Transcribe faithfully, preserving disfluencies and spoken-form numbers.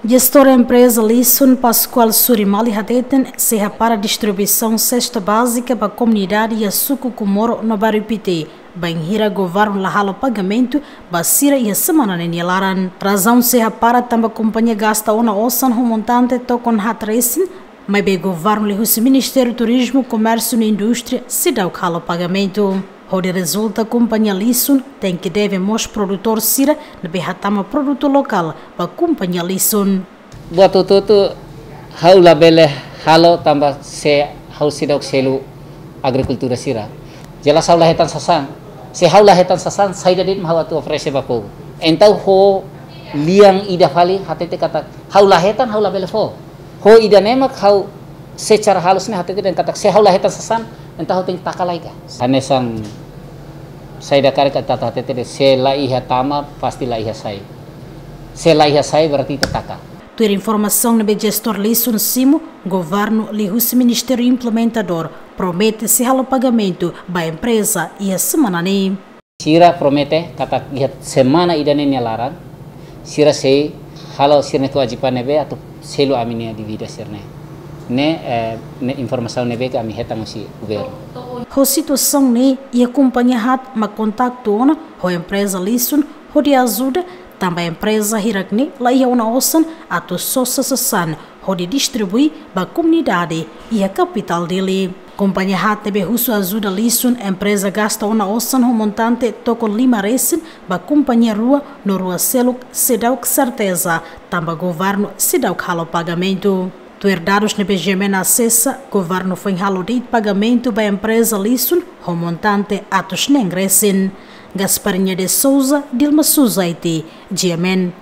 Jestór empreza Lisun, Pascoal Surimali, hateten sei hapara distribuisaun sesta bázika ba komunidade iha suku Comoro no Bairro Pité, bainhira governu la halo pagamentu ba sira iha semana ne'e nia laran. Razaun sei hapara tanba kompañia gasta ona osan ho montante tokon haat resin, maibé governu liuhusi Ministériu Turizmu, Komérsiu no Indústria seidauk halo pagamentu. Hodi rezulta, kompañia Lisun tenke deve mós produtór sira ne'ebé hatama produtu lokál ba kompañia Lisun. Buat hotu-hotu ha'u labele halo tanba se ha'u seidauk selu agrikultór sira. Jelas ha'u la hetan sasán. Se ha'u la hetan sasán, saida de'it mak ha'u atu oferese ba povu. Entaun ho lian ida fali hatete katak ha'u la hetan, ha'u labele fó. Ho ida-ne'e mak ha'u secara halus ne'e hatete dehan katak se ha'u la hetan sasán, entaun ha'u tenke taka lai ka. Hanesan saida karik atu hatete de'it, se la iha tama, pasti la iha sai. Se la iha sai, berarti ita taka. Tuir informasaun ne'ebé jestór Lisun simu, governu liuhusi Ministériu Implementadór promete sei halo pagamentu ba empreza iha semana ne'e. Sira promete katak iha semana ida-ne'e nia laran, sira sei halo sira-nia kewajiban ne'ebé atu selu ami-nia dívida sira-ne'e. Ne'e, eh, ne'e informasaun ne'ebé ke ami hetan husi governu. Ho situasaun ne'e, iha kompañia haat mak kontaktu ona ho empreza Lisun hodi ajuda, tanba empreza hirak-ne'e la iha ona osan atu sosa sasán hodi distribui ba komunidade iha kapitál Dili. Kompañia haat ne'ebé husu ajuda Lisun, empreza gasta ona osan ho montante tokon lima resin ba kompañia rua, no rua seluk seidauk serteza, tanba governu seidauk halo pagamentu. Tuir dadus ne'ebé G M N asesa, governu foin halo de'it pagamentu ba empreza Lisun ho montante atus neen resin. Gasparinha de Souza, Dilma Suzaiti, G M N.